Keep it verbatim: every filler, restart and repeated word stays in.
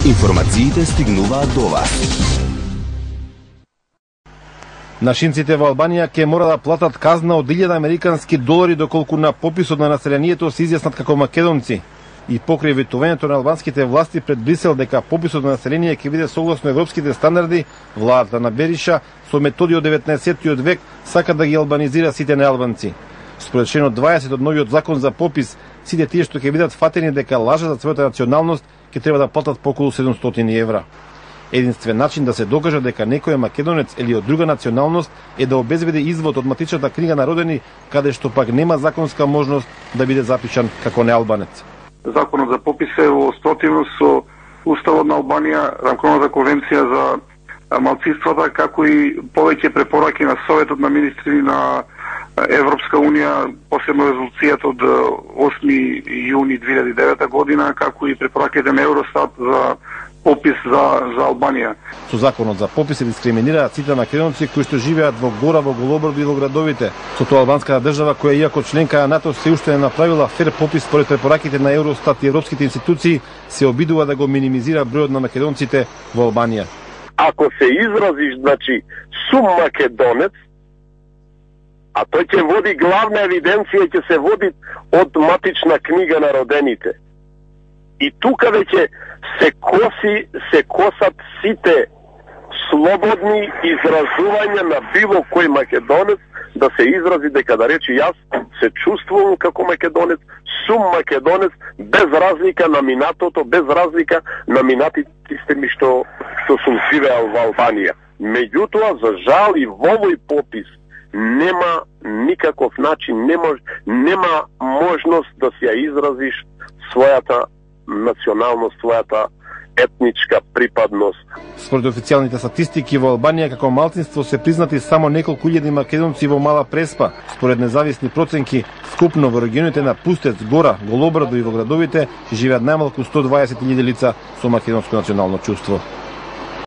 Информациите стигнуваат до вас. Нашинците во Албанија ќе мора да платат казна од илјада американски долари доколку на пописот на населението се изјаснат како македонци. И покрај ветувањето на албанските власти пред Брисел дека пописот на население ќе биде согласно европските стандарди, владата на Бериша со методи од деветнаесеттиот век сака да ги албанизира сите неалбанци. Според членот дваесет од новиот закон за попис, сите тие што ќе бидат фатени дека лажат за својата националност ќе треба да платат по околу седумстотини евра. Единствен начин да се докаже дека некој е македонец или од друга националност е да обезбеди извод од матичната книга на родени, каде што пак нема законска можност да биде запишан како неалбанец. Законот за попис е во спротивност со Уставот на Албанија, Рамковната конвенција за малцинствата, како и повеќе препораки на Советот на министри на Европска унија, посебно резолуцијата од осми јуни две илјади и девета година, како и препораките на Евростат за попис за, за Албанија. Со законот за попис се дискриминираат сите македонци кои што живеат во гора, во Голобрдо и во градовите. Со тоа албанската држава, која иако членка на НАТО се уште не направила фер попис според препораките на Евростат и европските институции, се обидува да го минимизира бројот на македонците во Албанија. Ако се изразиш, значи, сум македонец, а тој ќе води главна евиденција, ќе се води од матична книга на родените. И тука веќе се коси, се косат сите слободни изразувања на било кој македонец да се изрази дека да рече јас се чувствувам како македонец, сум македонец, без разлика на минатото, без разлика на минатите ми што, што сум живеал во Албанија. Меѓутоа, за жал и во овој попис нема никаков начин, нема, нема можност да се ја изразиш својата националност, својата етничка припадност. Според официјалните статистики во Албанија како малцинство се признати само неколку илјади македонци во Мала Преспа. Според независни проценки, скупно во регионите на Пустец, Гора, Голобрдо и во градовите живеат најмалку сто дваесет илјади лица со македонско национално чувство.